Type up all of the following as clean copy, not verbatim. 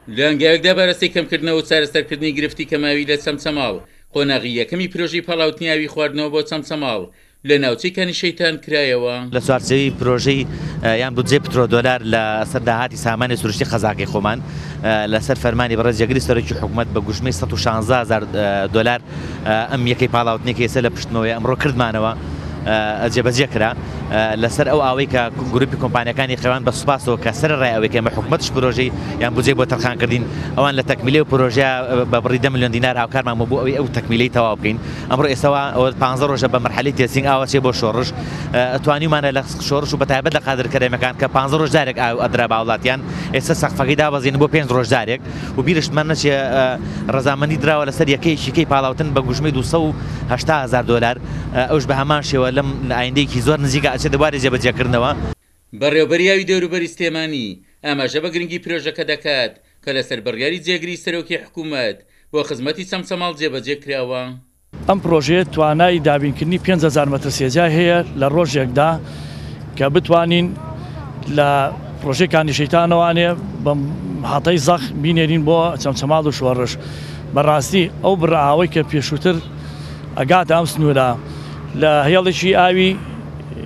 لە هەنگاوێکدا بەرەسەی کەمکردنەوە و چارەسەرکردنی گرفتی کەماوی لە چەمچەماڵ، قۆناغی یەکەمی پرۆژەی پاڵاوتنی ئاوی خواردنەوە بۆ چەمچەماڵ لە ناوچەی کانی شەیتان کرایەوە. لە چوارچێوەی پرۆژەی یان بودجەی پترۆدۆلار لە سەر داهاتی سامانی سروشتی قەزاکەی خۆمان لە سەر فەرمانی بەڕێز جێگری سەرۆکی حکومەت بە گوژمەی 116 هەزار دۆلار ئەم یەکەی پاڵاوتنەی کە ئێستا لە پشتمەوەیە ئەمڕۆ کردمانەوە جێبەجێ کرا لەسەر ئەو ئاوەی کە گروپی کۆمپانیەکانی خەوان بە سوپاسەوە کە سەر ڕای ئەوەی کە ئێمە حکومەتش پرۆژەی یان بودجەی بۆ تەرخان کردین ئەوان لە تەکمیلەی و پرۆژە بە بڕی 10 ملیۆن دینار هاوکارمان بوو بۆ ئەوەی ئەو تەکمیلەی تەواو بکەین ئەمڕۆ ئێستاوا ئەوە 15 ڕۆژە بە مەرحەلەی testing ئاوە چێ بۆ شۆڕش توانیومانە لە شۆڕش و بەتایبەت لە قادر کەرەمەکان کە 15 ڕۆژ جارێک ئاو ئەدرا بە هاوڵاتیان ئێستا سەقفەکەی دابەزین بۆ 5 ڕۆژ جارێک و بیرشتمان نەچێ ڕەزامەندی دراوە لەسەر یەکەیەکی کەی پاڵاوتن بە گوژمەی 280 هەزار دۆلار ئەوش بە هەمان شێوە لەم ئایندەیەکی زۆر نزیکە ئەچێتە بواری جێبەجێکردنەوە. بەڕێوەبەری ئاوی دەوروبەری سلێمانی ئاماژە بە گرنگی پرۆژەکە دەکات کە لەسەر بڕیاری جێگری سەرۆکی حکوومەت بۆ خزمەتی چەمچەماڵ جێبەجێ کراوە. ئەم پڕۆژەیە توانای دابینکردنی 5000 مەتر سێجای هەیە لە ڕۆژێکدا کە بتوانین لە پڕۆژەی کانی شەیتانەوانێ بە هاتەی زەخ بینێرین بۆ چەمچەماڵ و شۆڕش. بەڕاستی ئەو بڕە ئاوەی کە پێشووتر ئەگاتە ئەم سنوورە لە هێڵێکی ئاوی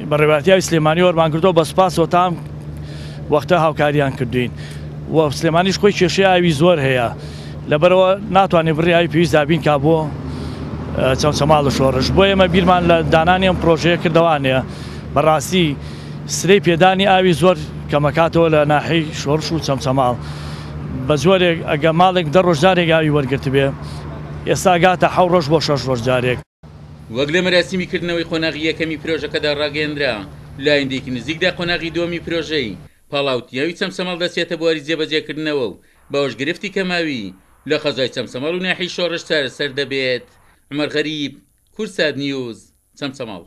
بەڕێوەبەرایەتی ئاوی سلێمانی وەرمان کردەوە بە سوپاسەوە تا ئەم وەختە هاوکاریان کردوین و سلێمانیش خۆی کێشەی ئاوی زۆر هەیە لەبەرەوە ناتوانێت بڕی ئاوی پێویست دابین کا بۆ چەمچەماڵ و شۆڕش بۆ ئێمە بیرمان لە دانانی ئەم پرۆژەیە کردەوانەیە بەڕاستی سرەی پێدانی ئاوی زۆر کەمەکاتەوە لە ناحیەی شۆڕش و چەمچەماڵ بە جۆرێک ئەگە ماڵێک دە ڕۆژ جارێک ئاوی وەرگرتبێ ئێستا گاتە حەو ڕۆژ بۆ شەش ڕۆژ جارێک. وەک لە مەراسیمی کردنەوەی قۆناغی یەکەمی پرۆژەکەدا ڕاگەیەنرا، لە ئایندەیەکی نزیکدا قۆناغی دووەمی پرۆژەی پاڵاوتنی چەمچەماڵ دەچێتە بواری جێبەجێکردنەوە و بەوەش گرفتی کەماوی لە قەزای چەمچەماڵ و ناحیەی شۆڕش چارەسەر دەبێت. عومەر غەریب، کوردسات نیوز، چەمچەماڵ.